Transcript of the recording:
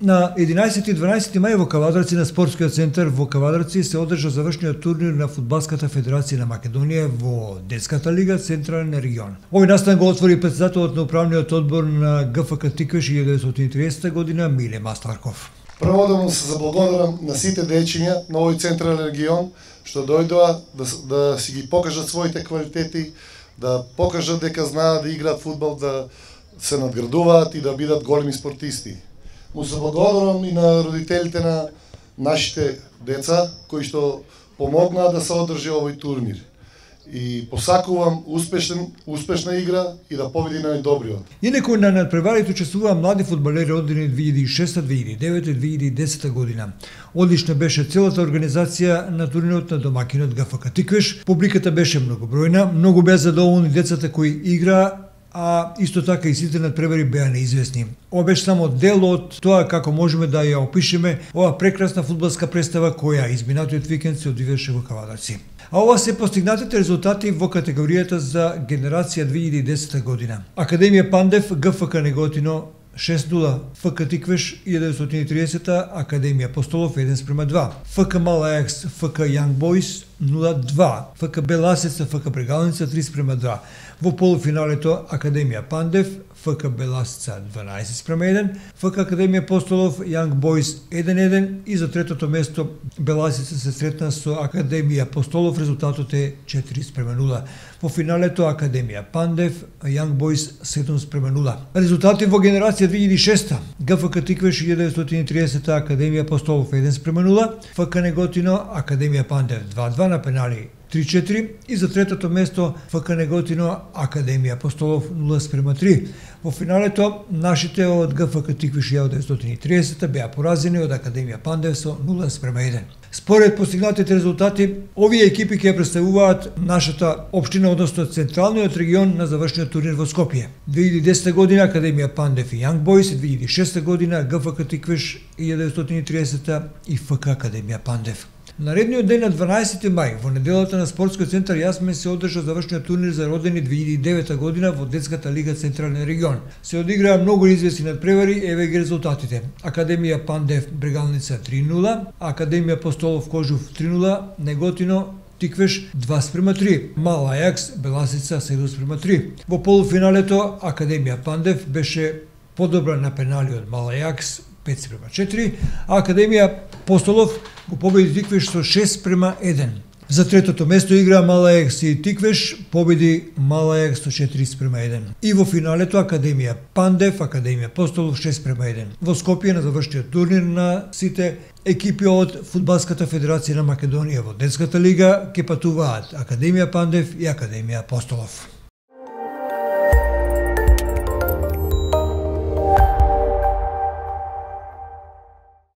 На 11 и 12 мај во Кавадарци на спортскиот центар во Кавадарци се одржа завршниот турнир на Фудбалската федерација на Македонија во детската лига Централен регион. Овој настан го отвори претседателот на управниот одбор на ГФК Тиквеш 1930 година Миле Масларков. Прво да му се заблагодарам на сите дечиња на овој Централен регион што дојдоа да си ги покажат своите квалитети, да покажат дека знаат да играат фудбал, да се надградуваат и да бидат големи спортисти. Му се благодарам и на родителите на нашите деца кои што помогнаа да се одржи овој турнир. И посакувам успешна игра и да победи најдобриот. Инаку на надпреварите учествуваа млади фудбалери родени 2006, 2009 и 2010 година. Одлична беше целата организација на турнирот на домакинот ГФК Тиквеш. Публиката беше многобројна, многу беа задоволни децата кои играа, а исто така и сите надпревари беа неизвестни. Ова беше само дел од тоа како можеме да ја опишеме ова прекрасна фудбалска представа која изминатиот викенд се одвиваше во Кавадарци. А ова се постигнатите резултати во категоријата за генерација 2010 година. Академија Пандев, ГФК Неготино 6-0, ФК Тиквеш 1930, Академија Апостолов 1:2, ФК Мал Ајакс, ФК Јанг Бойс 0-2, ФК Беласица, ФК Брегалница 3:2. Во полуфиналето Академија Пандев, ФК Беласица 12:1, ФК Академија Апостолов, Јанг Бойс 1:1 и за третото место Беласица се сретна со Академија Апостолов, резултатот е 4:0. Во финалето Академија Пандев, Јанг Бойс 7:0. Резултати во генерација 2006, ГФК Тиквеш 1930, Академија Апостолов 1:0, ФК Неготино, Академија Пандев 2:2 на пенали 3-4 и за третото место ФК Неготино, Академија Апостолов 0:3. Во финалето нашите од ГФК Тиквеш 1930 беа поразени од Академија Пандев со 0:1. Според постигнатите резултати, овие екипи ќе представуваат нашата општина, односно Централниот регион на завршниот турнир во Скопје. 2010 година Академија Пандев и Јанг Бойс, 2006 година ГФК Тиквеш 1930 и ФК Академија Пандев. Наредниот ден на 12 мај, во неделата на спортскиот центар Јасмен се одржа завршниот турнир за родени 2009 година во детската лига Централен регион. Се одиграа многу известни надпревари, еве ги резултатите. Академија Пандев Брегалница 3:0, Академија Апостолов Кожув 3:0, Неготино Тиквеш 2:3, Мал Ајакс Беласица 7:3. Во полуфиналето Академија Пандев беше подобра на пенали од Мал Ајакс 5:4, а Академија Апостолов го победи Тиквеш со 6:1. За третото место игра Мал Ајакс и Тиквеш победи Мал Ајакс со 4:1. И во финалето Академија Пандев, Академија Апостолов 6:1. Во Скопје на завршниот турнир на сите екипи од Фудбалската федерација на Македонија во детската лига ќе патуваат Академија Пандев и Академија Апостолов.